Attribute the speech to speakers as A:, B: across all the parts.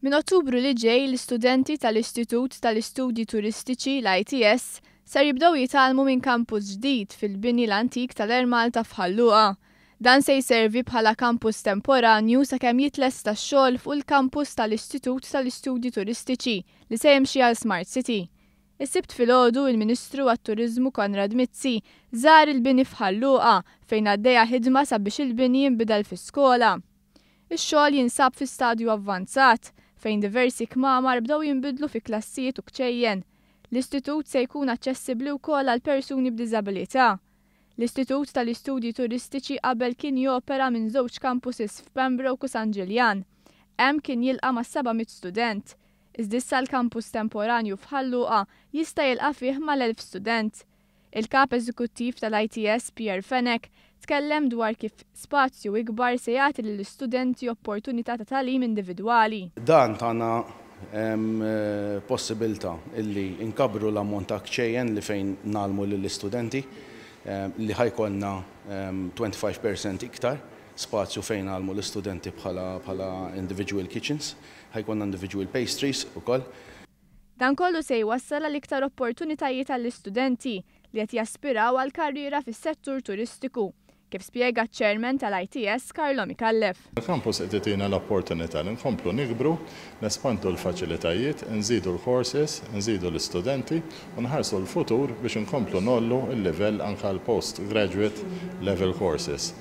A: Minn Ottubru li ġej l-istudenti tal-Istitut tal-Istudji Turistiċi, l-ITS, ser jibdew jitgħallmu minn kampus ġdid fil-bini l-antik tal-Air Malta f'Ħal Luqa. Dan se jservi bħala kampus temporanju sakemm jitlesta x-xogħol fuq il-kampus tal-Istitut tal-Istudji Turistiċi li se jimxi għal Smart City. Is-Sibt filgħodu il-Ministru għat-Turiżmu Konrad Mizzi żar il-bini f'Ħal Luqa fejn għaddejja ħidma sabiex il-bini jinbidel fi skola. Ix-xogħol jinsab fi stadju avvanzat, fejn diversi kmamar bdew jinbidlu fi klassijiet u kċejjen. L-istitut se jkun aċċessibbli wkoll għal persuni b'diżabilità. L-Istitut tal-Istudji Turistiċi qabel kien jopera minn żewġ campuses f'Pembroke u San Ġiljan. Hemm kien jilqa' mas-700 student. Iżda issa l-kampus temporanju f'Ħal Luqa jista' jilqa' fih mal-1,000 student. Il-Kap Eżekuttiv tal-ITS Pierre Fenech tkellem dwar kif spazju ikbar se jagħti lill-istudenti opportunità ta' tagħlim individwali.
B: Dan tana possibilità illi nkabbru l-ammont ta' kċejjen li fejn ngħallmu lill-istudenti, li ħa jkollna 25% iktar spazju fejn ngħallmu l-istudenti bħala individual kitchens, ħa jkollna individual pastries ukoll.
A: Dan kollu se jwassal għal iktar opportunitajiet għall-istudenti li qed jaspiraw għal karriera fis-settur turistiku, kif spjega ċ-chairman tal-ITS Carlo Micallef.
C: Il-campus qed itina l-opportunità li nkomplu nikbru, nespandu l-faċilitajiet, nżidu l-courses, nżidu l-istudenti u nħarsu l-futur biex nkomplu ngħollu l-livell anke l-postgraduate level courses.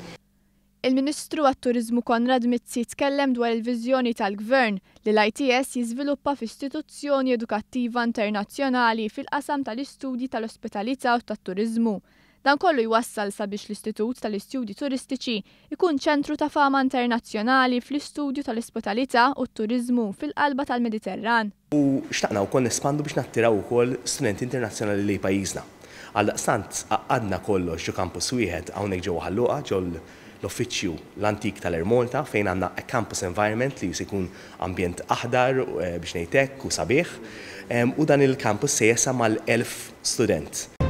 A: Il-Ministru għat-Turiżmu Konrad Mizzi tkellem dwar il-viżjoni tal-Gvern li l-ITS jiżviluppa f'istituzzjoni edukattiva internazzjonali fil-qasam tal-istudji tal-ospitalità u tat-turiżmu. Dan kollu jwassal sabiex l-Istitut tal-Istudji Turistiċi ikun ċentru ta' fama internazzjonali fl-istudju tal-ospitalità u t-turiżmu fil-qalba tal-Mediterran.
D: U xtaqna wkoll nespandu biex nattiraw ukoll studenti internazzjonali lejn pajjiżna. Għaldaqstant għaqqadna kollox ġo campus wieħed hawnhekk ġewwa Ħal Luqa, ġo l-uffiċċju l-antik tal-Air Malta, fejn għandna a campus environment li se jkun ambjent aħdar, biex ngħid hekk, u sabiħ. U dan il-campus se jesa' mal-1,000 student.